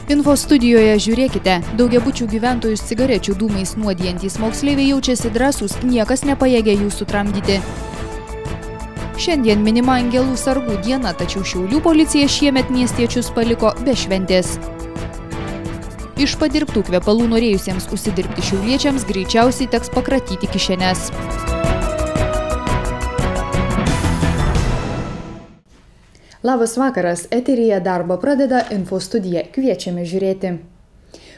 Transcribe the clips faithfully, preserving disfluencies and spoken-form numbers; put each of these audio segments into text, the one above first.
Info studijoje žiūrėkite, daugiabučių gyventojus cigarečių dūmais nuodijantys moksleiviai jaučiasi drąsūs, niekas nepajėgia jų sutramdyti. Šiandien minima Angelų sargų diena, tačiau Šiaulių policija šiemet miestiečius paliko be šventės. Iš padirbtų kvepalų norėjusiems užsidirbti šiauliečiams greičiausiai teks pakratyti kišenes. Labas vakaras, eteryje darbą pradeda Info studija, kviečiame žiūrėti.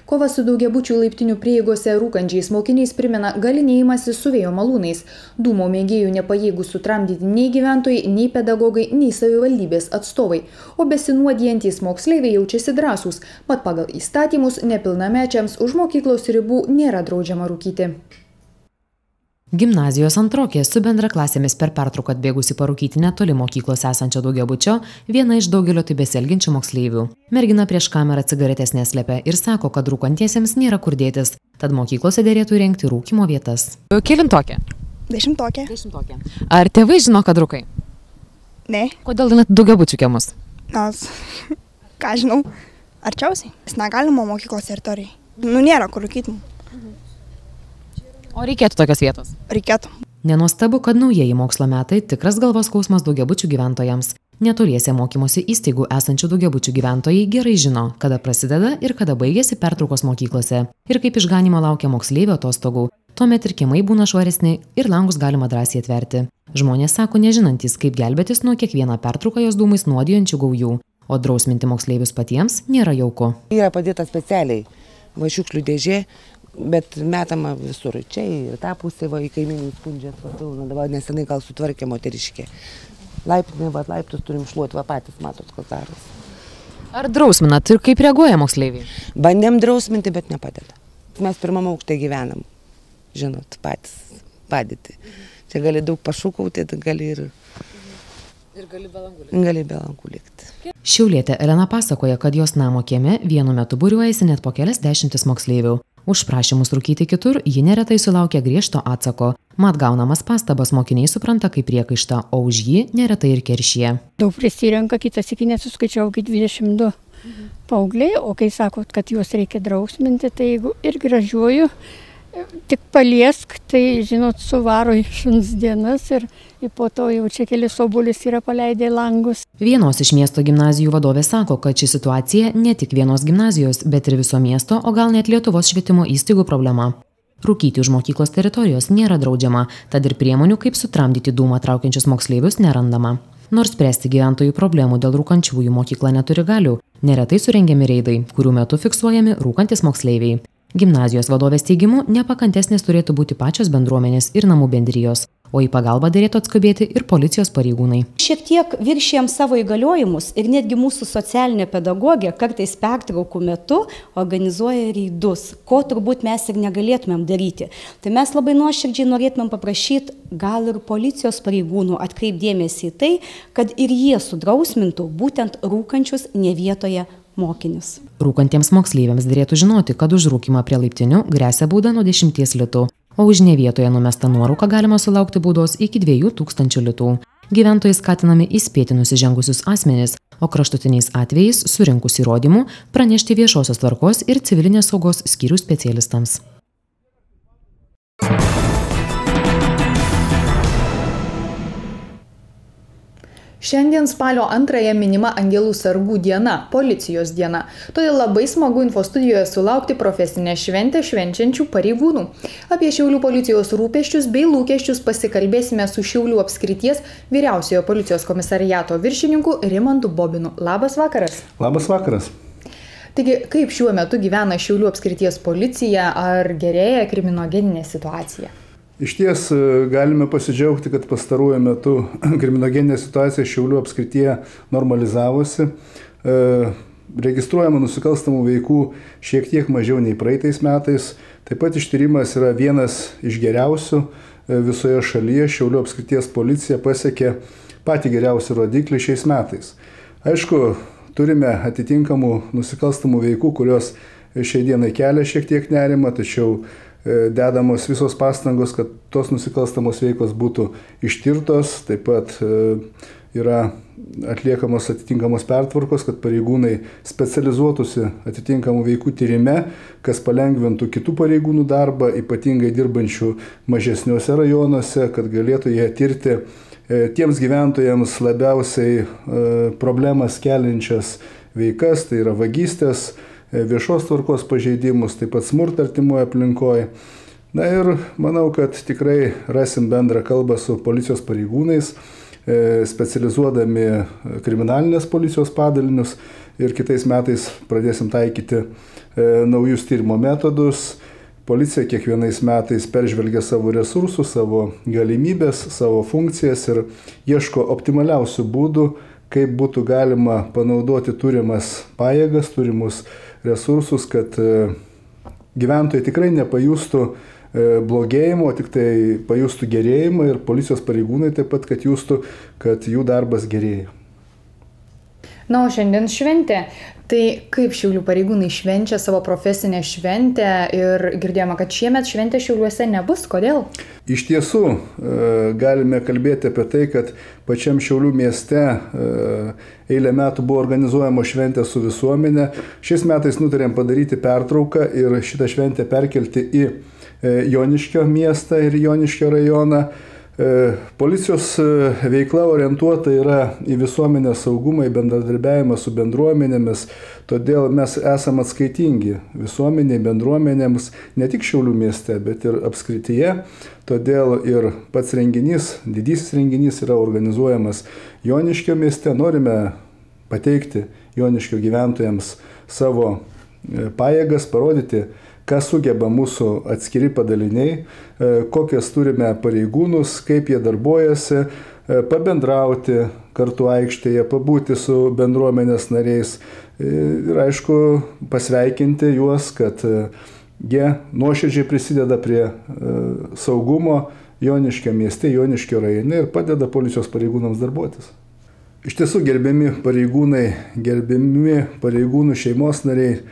Kova su daugiabučių laiptinių prieigose rūkančiais mokiniais primena galinėjimąsi su vėjo malūnais. Dūmo mėgėjų nepajėgų sutramdyti nei gyventojai, nei pedagogai, nei savivaldybės atstovai. O besinuodijantys moksleiviai jaučiasi drąsūs, mat pagal įstatymus nepilnamečiams už mokyklos ribų nėra draudžiama rūkyti. Gimnazijos antrokė su bendraklasėmis per pertrauką atbėgusi parūkyti netoli mokyklos esančio daugiabučio, viena iš daugelio taip besielgiančių moksleivių. Mergina prieš kamerą cigaretės neslepia ir sako, kad rūkantiesiems nėra kur dėtis, tad mokyklose dėrėtų įrengti rūkymo vietas. Kelintokė? Dešimtokė. Dešimtokė. Ar tėvai žino, kad rūkai? Ne. Kodėl net daugiabučių kiemus? Nes, ką žinau, arčiausiai. Nes negalima mokyklos teritorijai. Nu, nėra kur rūkyti. O reikėtų tokios vietos? Reikėtų. Nenuostabu, kad naujieji mokslo metai tikras galvos skausmas daugiabučių gyventojams. Netoliese mokymosi įstaigų esančių daugiabučių gyventojai gerai žino, kada prasideda ir kada baigėsi pertraukos mokyklose. Ir kaip išganimo laukia moksleivio atostogų. Tuomet ir kiemai būna švaresni ir langus galima drąsiai atverti. Žmonės sako nežinantys, kaip gelbėtis nuo kiekvieną pertrauką jos dūmais nuodijančių gaujų. O drausminti moksleivius patiems nėra jauku. Yra padėta specialiai va šiukšlių dėžė, bet metama visur. Čia ir tą pusę, va, į kaimynų skundžiat, va, pilna, dabar nesenai gal sutvarkė moteriškė. Laiptinė, va, laiptus turim šluoti, va, patys matot, kas daros. Ar drausminat ir kaip reaguoja moksleiviai? Bandėm drausminti, bet nepadeda. Mes pirmam aukšte gyvenam, žinot, patys padėti. Čia gali daug pašūkauti, gali ir... Ir gali be langų likti. Gali be langų likti. Šiaulietė Elena pasakoja, kad jos namo kieme vienu metu būriuojasi net po kelias dešimtis moksleivių. Už prašymus rūkyti kitur ji neretai sulaukia griežto atsako. Mat gaunamas pastabas mokiniai supranta kaip priekaištą, o už jį neretai ir keršyje. Daug prisirenka, kitas iki nesuskaičiau iki dvidešimt du mhm. paaugliai, o kai sakot, kad juos reikia drausminti, tai jeigu ir gražiuoju, tik paliesk, tai žinot, suvaro į šuns dienas ir, ir po to jau čia kelis obuolius yra paleidę langus. Vienos iš miesto gimnazijų vadovė sako, kad ši situacija ne tik vienos gimnazijos, bet ir viso miesto, o gal net Lietuvos švietimo įstaigų problema. Rūkyti už mokyklos teritorijos nėra draudžiama, tad ir priemonių, kaip sutramdyti dūmą traukiančius moksleivius, nerandama. Nors spręsti gyventojų problemų dėl rūkančiųjų mokykla neturi galių, neretai surengiami reidai, kurių metu fiksuojami rūkantis moksleiviai. Gimnazijos vadovės teigimu, nepakantesnės turėtų būti pačios bendruomenės ir namų bendrijos, o į pagalbą dėrėtų atskubėti ir policijos pareigūnai. Šiek tiek viršijam savo įgaliojimus ir netgi mūsų socialinė pedagogė kartais pertraukų metu organizuoja reidus, ko turbūt mes ir negalėtumėm daryti. Tai mes labai nuoširdžiai norėtumėm paprašyti gal ir policijos pareigūnų atkreipdėmėsi į tai, kad ir jie sudrausmintų būtent rūkančius ne vietoje mokinius. Rūkantiems moksleiviams dėrėtų žinoti, kad už rūkimą prie laiptinių gresia bauda nuo dešimties litų, o už ne vietoje numestą nuorūką galima sulaukti baudos iki dviejų tūkstančių litų. Gyventojai skatinami įspėti nusižengusius asmenis, o kraštutiniais atvejais surinkus įrodymų pranešti viešosios tvarkos ir civilinės saugos skyrių specialistams. Šiandien spalio antrąją minima Angelų sargų diena, policijos diena. Todėl labai smagu Info studijoje sulaukti profesinę šventę švenčiančių pareigūnų. Apie Šiaulių policijos rūpesčius bei lūkesčius pasikalbėsime su Šiaulių apskrities vyriausiojo policijos komisariato viršininku Rimantu Bobinu. Labas vakaras. Labas vakaras. Taigi, kaip šiuo metu gyvena Šiaulių apskrities policija, ar gerėja kriminogeninė situacija? Iš ties galime pasidžiaugti, kad pastaruoju metu kriminogeninė situacija Šiaulių apskrityje normalizavosi. Registruojama nusikalstamų veikų šiek tiek mažiau nei praeitais metais. Taip pat ištyrimas yra vienas iš geriausių visoje šalyje. Šiaulių apskrities policija pasiekė patį geriausią rodiklį šiais metais. Aišku, turime atitinkamų nusikalstamų veikų, kurios šiai dienai kelia šiek tiek nerimą, tačiau dedamos visos pastangos, kad tos nusikalstamos veikos būtų ištirtos, taip pat yra atliekamos atitinkamos pertvarkos, kad pareigūnai specializuotųsi atitinkamų veikų tyrime, kas palengvintų kitų pareigūnų darbą, ypatingai dirbančių mažesniuose rajonuose, kad galėtų jie tirti tiems gyventojams labiausiai problemas keliančias veikas, tai yra vagystės, viešos tvarkos pažeidimus, taip pat smurtą artimoje aplinkoje. Na ir manau, kad tikrai rasim bendrą kalbą su policijos pareigūnais, specializuodami kriminalinės policijos padalinius ir kitais metais pradėsim taikyti naujus tyrimo metodus. Policija kiekvienais metais peržvelgia savo resursus, savo galimybės, savo funkcijas ir ieško optimaliausių būdų, kaip būtų galima panaudoti turimas pajėgas, turimus resursus, kad gyventojai tikrai nepajustų blogėjimo, tik tai pajustų gerėjimą ir policijos pareigūnai taip pat, kad justų, kad jų darbas gerėja. Na, o šiandien šventė. Tai kaip Šiaulių pareigūnai švenčia savo profesinę šventę ir girdėjome, kad šiemet šventė Šiauliuose nebus. Kodėl? Iš tiesų, galime kalbėti apie tai, kad pačiam Šiaulių mieste eilę metų buvo organizuojama šventė su visuomenė. Šiais metais nutarėm padaryti pertrauką ir šitą šventę perkelti į Joniškio miestą ir Joniškio rajoną. Policijos veikla orientuota yra į visuomenės saugumą, į bendradarbiavimą su bendruomenėmis, todėl mes esame atskaitingi visuomeniai, bendruomenėms, ne tik Šiaulių mieste, bet ir apskrityje. Todėl ir pats renginys, didysis renginys yra organizuojamas Joniškio mieste. Norime pateikti Joniškio gyventojams savo pajėgas, parodyti, ką sugeba mūsų atskiri padaliniai, kokias turime pareigūnus, kaip jie darbuojasi, pabendrauti kartu aikštėje, pabūti su bendruomenės nariais ir, aišku, pasveikinti juos, kad jie nuoširdžiai prisideda prie saugumo Joniškio mieste, Joniškio rajone ir padeda policijos pareigūnams darbuotis. Iš tiesų, gerbiami pareigūnai, gerbiami pareigūnų šeimos nariai,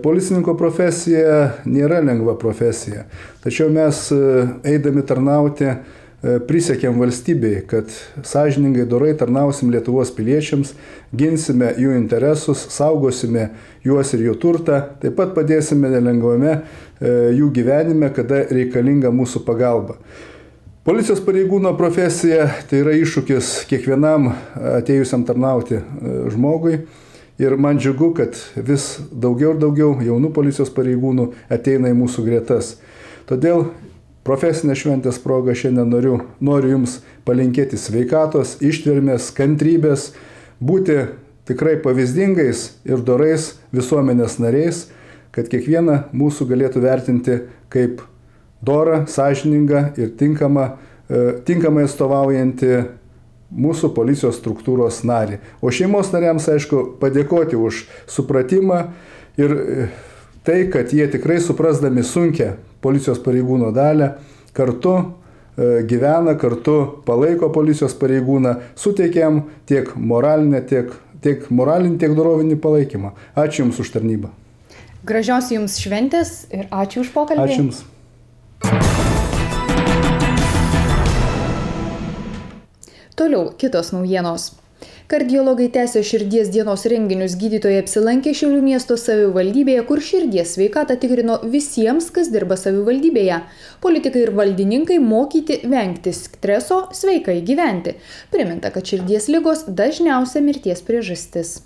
policininko profesija nėra lengva profesija, tačiau mes eidami tarnauti prisiekėm valstybei, kad sąžiningai dorai tarnausim Lietuvos piliečiams, ginsime jų interesus, saugosime juos ir jų turtą, taip pat padėsime nelengvame jų gyvenime, kada reikalinga mūsų pagalba. Policijos pareigūno profesija tai yra iššūkis kiekvienam atėjusiam tarnauti žmogui. Ir man džiugu, kad vis daugiau ir daugiau jaunų policijos pareigūnų ateina į mūsų gretas. Todėl profesinė šventės proga šiandien noriu, noriu Jums palinkėti sveikatos, ištvermės, kantrybės, būti tikrai pavyzdingais ir dorais visuomenės nariais, kad kiekvieną mūsų galėtų vertinti kaip dorą, sąžiningą ir tinkamą, tinkamai atstovaujantį mūsų policijos struktūros narį. O šeimos nariams, aišku, padėkoti už supratimą ir tai, kad jie tikrai suprasdami sunkią policijos pareigūno dalę, kartu gyvena, kartu palaiko policijos pareigūną, suteikiam tiek moralinę, tiek, tiek moralinį, tiek dorovinį palaikymą. Ačiū Jums už tarnybą. Gražios Jums šventės ir ačiū už pokalbį. Ačiū Jums. Toliau kitos naujienos. Kardiologai tęsia širdies dienos renginius. Gydytojai apsilankė Šiaulių miesto savivaldybėje, kur širdies sveikatą tikrino visiems, kas dirba savivaldybėje. Politikai ir valdininkai mokyti vengti streso, sveikai gyventi. Priminta, kad širdies ligos dažniausia mirties priežastis.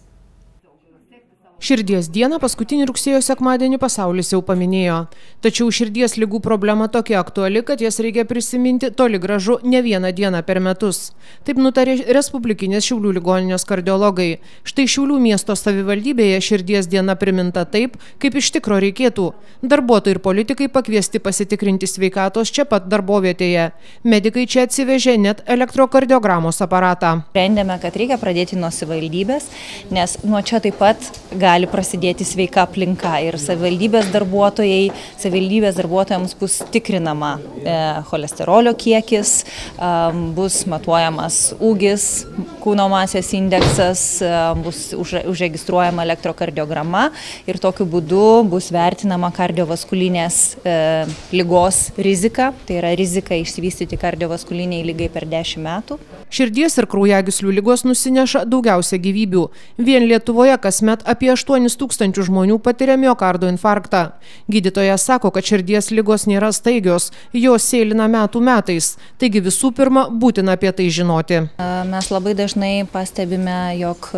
Širdies dieną paskutinį rugsėjo sekmadienį pasaulis jau paminėjo. Tačiau širdies ligų problema tokia aktuali, kad jas reikia prisiminti toli gražu ne vieną dieną per metus. Taip nutarė Respublikinės Šiaulių ligoninės kardiologai. Štai Šiaulių miesto savivaldybėje širdies diena priminta taip, kaip iš tikro reikėtų. Darbuotojai ir politikai pakviesti pasitikrinti sveikatos čia pat darbovietėje. Medikai čia atsivežė net elektrokardiogramos aparatą. Sprendėme, kad reikia pradėti nuo savivaldybės, nes nuo čia taip pat gali prasidėti sveika aplinka ir savivaldybės darbuotojai, savivaldybės darbuotojams bus tikrinama e, cholesterolio kiekis, e, bus matuojamas ūgis, kūno masės indeksas, e, bus už, užregistruojama elektrokardiograma ir tokiu būdu bus vertinama kardiovaskulinės e, ligos rizika, tai yra rizika išsivystyti kardiovaskuliniai lygai per dešimt metų. Širdies ir kraujagyslių ligos nusineša daugiausia gyvybių. Vien Lietuvoje kasmet apie aštuonis tūkstančius žmonių patiria miokardo infarktą. Gydytojas sako, kad širdies ligos nėra staigios, jos sėlina metų metais. Taigi visų pirma, būtina apie tai žinoti. Mes labai dažnai pastebime, jog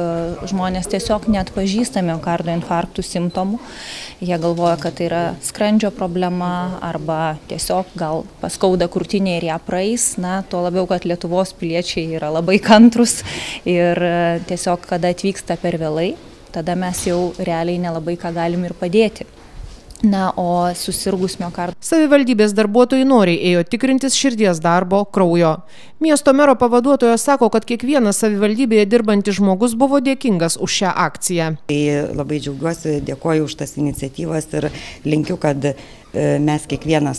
žmonės tiesiog neatpažįsta miokardo infarktų simptomų. Jie galvoja, kad tai yra skrandžio problema arba tiesiog gal paskauda krūtinė ir ją praeis. Na, tuo labiau, kad Lietuvos piliečiai yra labai kantrus ir tiesiog, kada atvyksta per vėlai, tada mes jau realiai nelabai ką galim ir padėti. Na, o susirgus miokardo. Savivaldybės darbuotojai noriai ėjo tikrintis širdies darbo, kraujo. Miesto mero pavaduotojas sako, kad kiekvienas savivaldybėje dirbantis žmogus buvo dėkingas už šią akciją. Tai labai džiaugiuosi, dėkoju už tas iniciatyvas ir linkiu, kad mes kiekvienas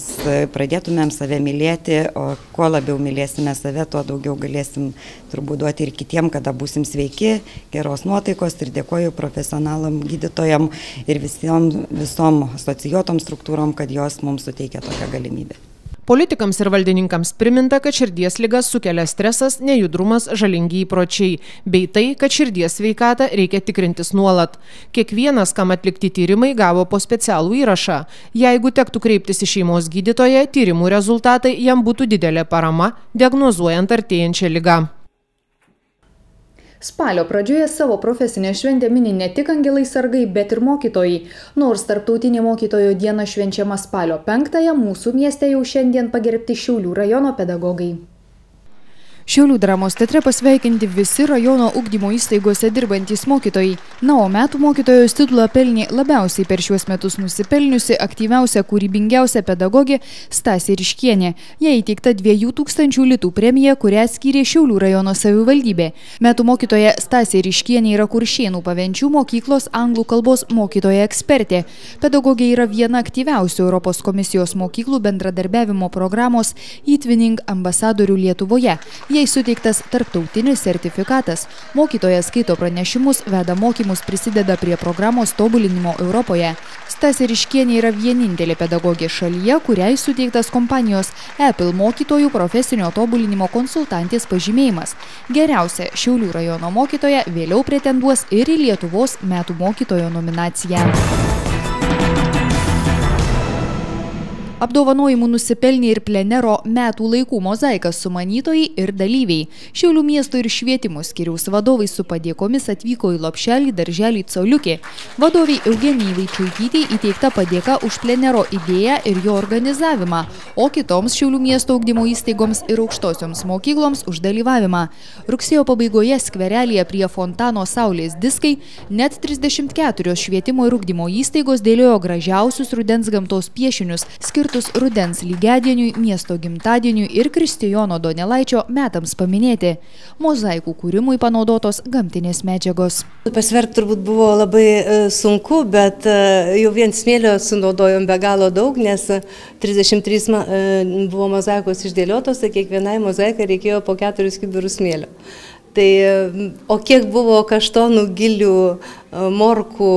pradėtumėm save mylėti, o kuo labiau mylėsime save, tuo daugiau galėsim turbūt duoti ir kitiem, kada būsim sveiki, geros nuotaikos ir dėkoju profesionalam gydytojam ir visom, visom asocijuotom struktūrom, kad jos mums suteikia tokią galimybę. Politikams ir valdininkams priminta, kad širdies ligas sukelia stresas, nejudrumas, žalingi įpročiai, bei tai, kad širdies sveikatą reikia tikrintis nuolat. Kiekvienas, kam atlikti tyrimai, gavo po specialų įrašą. Jeigu tektų kreiptis į šeimos gydytoją, tyrimų rezultatai jam būtų didelė parama, diagnozuojant artėjančią ligą. Spalio pradžioje savo profesinę šventę mini ne tik angelai sargai, bet ir mokytojai. Nors tarptautinė mokytojo diena švenčiama spalio penktąją, mūsų mieste jau šiandien pagerbti Šiaulių rajono pedagogai. Šiaulių dramos teatre pasveikinti visi rajono ugdymo įstaigose dirbantys mokytojai. Na, o metų mokytojos titulą pelnė labiausiai per šiuos metus nusipelniusi aktyviausia, kūrybingiausia pedagogė Stasė Ryškienė. Jai įteikta dviejų tūkstančių litų premija, kurią skyrė Šiaulių rajono savivaldybė. Metų mokytoja Stasė Ryškienė yra Kuršėnų Pavenčių mokyklos anglų kalbos mokytoja ekspertė. Pedagogė yra viena aktyviausių Europos komisijos mokyklų bendradarbiavimo programos E-Twinning ambasadorių Lietuvoje. Jai suteiktas tarptautinis sertifikatas. Mokytojas skaito pranešimus, veda mokymus, prisideda prie programos tobulinimo Europoje. Stasė Ryškienė yra vienintelė pedagogė šalyje, kuriai suteiktas kompanijos Apple mokytojų profesinio tobulinimo konsultantės pažymėjimas. Geriausia Šiaulių rajono mokytoja vėliau pretenduos ir į Lietuvos metų mokytojo nominaciją. Apdovanojimų nusipelnė ir plenero metų laikų mozaikas sumanytojai ir dalyviai. Šiaulių miesto ir švietimo skyriaus vadovai su padėkomis atvyko į lopšelį darželį Coliukė. Vadoviai Eugenijai Vaičiuitytei įteikta padėka už plenero idėją ir jo organizavimą, o kitoms Šiaulių miesto ugdymo įstaigoms ir aukštosioms mokykloms už dalyvavimą. Rugsėjo pabaigoje skverelėje prie fontano Saulės diskai net trisdešimt keturios švietimo ir ugdymo įstaigos dėliojo gražiausius rudens gamtos piešinius, skirtus rudens lygiadieniui, miesto gimtadieniui ir Kristijono Donelaičio metams paminėti. Mozaikų kūrimui panaudotos gamtinės medžiagos. Pasverti turbūt buvo labai sunku, bet jau vien smėlio sunaudojom be galo daug, nes trisdešimt trys buvo mozaikos išdėliotos, tai kiekvienai mozaikai reikėjo po keturis kibirus smėlio. Tai, o kiek buvo kaštonų, gilių, morkų,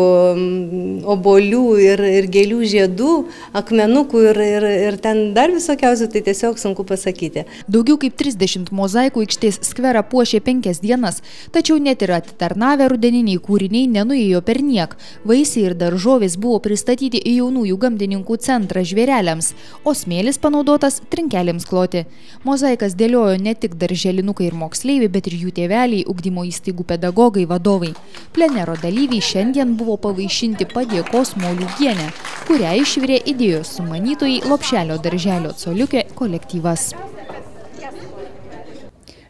obolių ir, ir gėlių žiedų, akmenukų ir, ir, ir ten dar visokiausių, tai tiesiog sunku pasakyti. Daugiau kaip trisdešimt mozaikų aikštės skverą puošė penkias dienas, tačiau net ir atitarnavę rudeniniai kūriniai nenuėjo per niek. Vaisiai ir daržovės buvo pristatyti į jaunųjų gamtininkų centrą žvėreliams, o smėlis panaudotas trinkelėms kloti. Mozaikas dėliojo ne tik darželinukai ir moksleiviai, bet ir jų tėveliai, ugdymo įstaigų pedagogai, vadovai. Plenero dalyviai šiandien buvo pavaišinti padėkos moliūgienę, kurią išvirė idėjos sumanytojai lopšelio darželio Coliukė kolektyvas.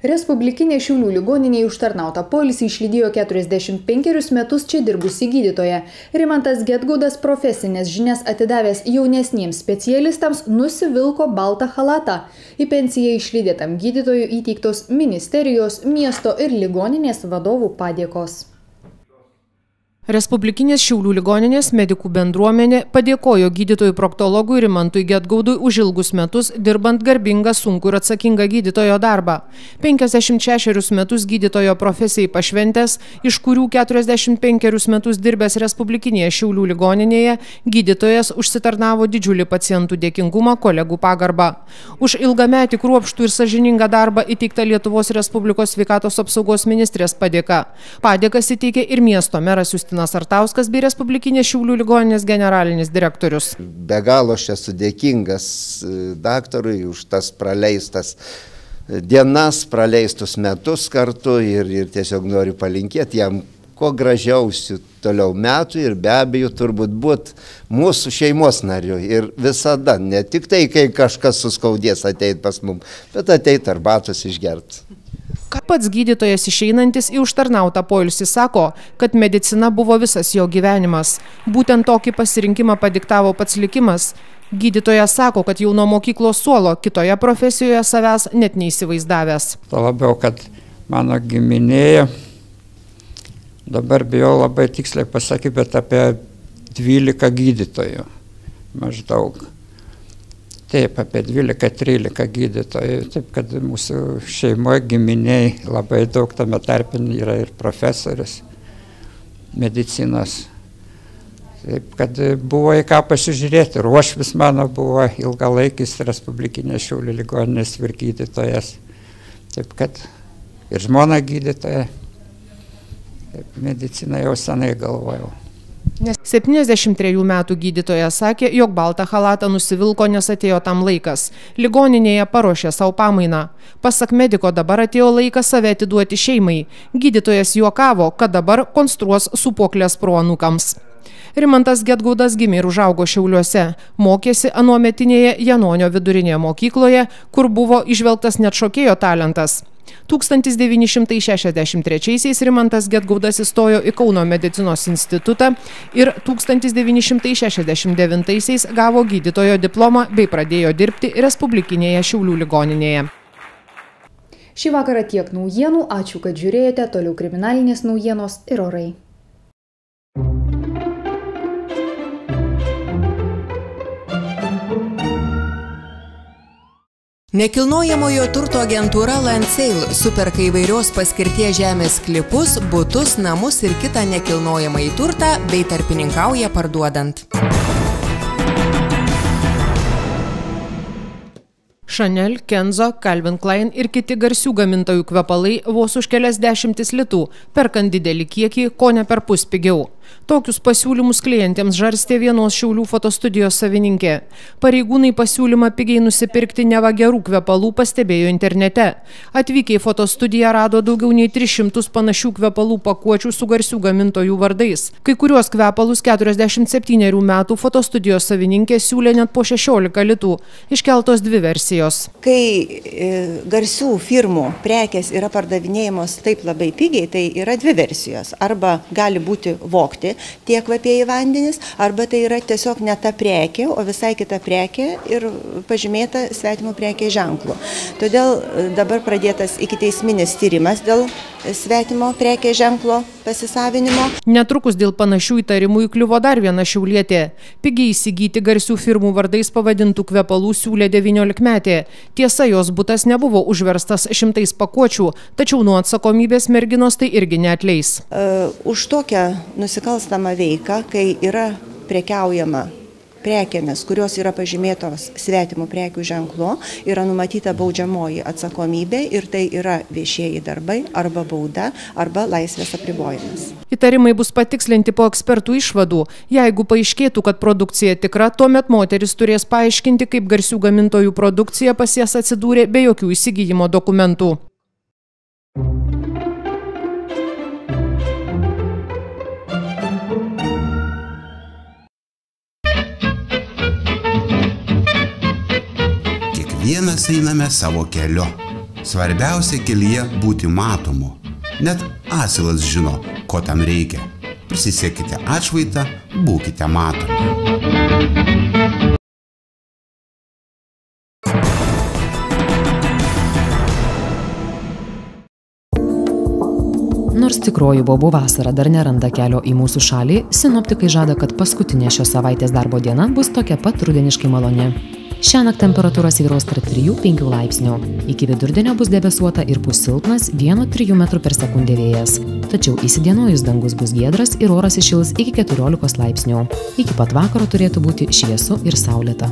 Respublikinė Šiaulių ligoninėje užtarnautą poilsį išlydėjo keturiasdešimt penkerius metus čia dirbusi gydytoja. Rimantas Gedgaudas profesinės žinias atidavęs jaunesniems specialistams nusivilko baltą chalatą. Į pensiją išlydėtam gydytojui įteiktos ministerijos, miesto ir ligoninės vadovų padėkos. Respublikinės Šiaulių ligoninės medikų bendruomenė padėkojo gydytojui proktologui Rimantui Gedgaudui už ilgus metus dirbant garbingą, sunkų ir atsakingą gydytojo darbą. penkiasdešimt šešerius metus gydytojo profesijai pašventęs, iš kurių keturiasdešimt penkerius metus dirbęs Respublikinėje Šiaulių ligoninėje, gydytojas užsitarnavo didžiulį pacientų dėkingumą, kolegų pagarbą. Už ilgametį kruopštų ir sąžiningą darbą įteikta Lietuvos Respublikos sveikatos apsaugos ministrės padėka. Padėkas įteikė ir miesto meras Justinas Artauskas bei Respublikinės Šiaulių ligoninės generalinis direktorius. Be galo aš esu dėkingas daktarui už tas praleistas dienas, praleistus metus kartu ir, ir tiesiog noriu palinkėti jam kuo gražiausių toliau metų ir be abejo turbūt būt mūsų šeimos nariu ir visada, ne tik tai, kai kažkas suskaudės ateit pas mum, bet ateit arbatos išgert. Pats gydytojas išeinantis į užtarnautą poilsį sako, kad medicina buvo visas jo gyvenimas. Būtent tokį pasirinkimą padiktavo pats likimas. Gydytojas sako, kad jau nuo mokyklos suolo kitoje profesijoje savęs net neįsivaizdavęs. Tuo labiau, kad mano giminėje, dabar bijau labai tiksliai pasakyti, bet apie dvylika gydytojų maždaug. Taip, apie dvylika trylika gydytojų, taip kad mūsų šeimoje giminiai labai daug, tame tarpe yra ir profesorius medicinos. Taip kad buvo į ką pasižiūrėti. Ruošvis mano buvo ilgalaikis Respublikinės Šiaulių ligoninės vyrgydytojas. Taip kad ir žmona gydytoja. Taip, mediciną jau senai galvojau. septyniasdešimt trejų metų gydytojas sakė, jog baltą chalatą nusivilko, nes atėjo tam laikas. Ligoninėje paruošė savo pamainą. Pasak mediko, dabar atėjo laikas save atiduoti šeimai. Gydytojas juokavo, kad dabar konstruos sūpuoklės proanūkams. Rimantas Gedgaudas gimė ir užaugo Šiauliuose. Mokėsi anuometinėje Janonio vidurinėje mokykloje, kur buvo įžvelgtas net šokėjo talentas. tūkstantis devyni šimtai šešiasdešimt trečiaisiais Rimantas Gedgaudas įstojo į Kauno medicinos institutą ir tūkstantis devyni šimtai šešiasdešimt devintaisiais gavo gydytojo diplomą bei pradėjo dirbti Respublikinėje Šiaulių ligoninėje. Šį vakarą tiek naujienų, ačiū, kad žiūrėjote, toliau kriminalinės naujienos ir orai. Nekilnojamojo turto agentūra Landsale superka įvairios paskirties žemės sklypus, butus, namus ir kitą nekilnojamąjį turtą bei tarpininkauja parduodant. Chanel, Kenzo, Calvin Klein ir kiti garsių gamintojų kvepalai vos už kelias dešimtis litų, perkant didelį kiekį, ko ne per pus pigiau. Tokius pasiūlymus klientėms žarstė vienos Šiaulių fotostudijos savininkė. Pareigūnai pasiūlymą pigiai nusipirkti neva gerų kvepalų pastebėjo internete. Atvykę į fotostudiją rado daugiau nei tris šimtus panašių kvepalų pakuočių su garsių gamintojų vardais. Kai kuriuos kvepalus keturiasdešimt septynerių metų fotostudijos savininkė siūlė net po šešiolika litų. Iškeltos dvi versijos. Kai e, garsių firmų prekės yra pardavinėjamos taip labai pigiai, tai yra dvi versijos. Arba gali būti vogti tie kvapieji vandenys, arba tai yra tiesiog ne ta prekė, o visai kita prekė ir pažymėta svetimo prekės ženklu. Todėl dabar pradėtas ikiteisminis tyrimas dėl svetimo prekės ženklo pasisavinimo. Netrukus dėl panašių įtarimų įkliuvo dar viena šiaulietė. Pigiai įsigyti garsių firmų vardais pavadintų kvepalų siūlė devyniolikmetė. Tiesa, jos butas nebuvo užverstas šimtais pakuočių, tačiau nuo atsakomybės merginos tai irgi neatleis. Uh, už tokią nusikalstamą veiką, kai yra prekiaujama prekėmis, kurios yra pažymėtos svetimų prekių ženklu, yra numatyta baudžiamoji atsakomybė ir tai yra viešieji darbai arba bauda arba laisvės apribojimas. Įtarimai bus patikslinti po ekspertų išvadų. Jeigu paaiškėtų, kad produkcija tikra, tuomet moteris turės paaiškinti, kaip garsių gamintojų produkcija pas jas atsidūrė be jokių įsigijimo dokumentų. Kiekvienas einame savo keliu. Svarbiausia kelyje būti matomu. Net asilas žino, ko tam reikia. Prisisekite atšvaitą, būkite matomi. Nors tikroji bobų vasara dar neranda kelio į mūsų šalį, sinoptikai žada, kad paskutinė šios savaitės darbo diena bus tokia pat rudeniškai maloni. Šiąnakt temperatūra svyruos tarp trijų penkių laipsnių. Iki vidurdienio bus debesuota ir pūs silpnas vieno trijų metrų per sekundę vėjas. Tačiau įsidienojus dangus bus giedras ir oras įšils iki keturiolikos laipsnių. Iki pat vakaro turėtų būti šviesu ir saulėta.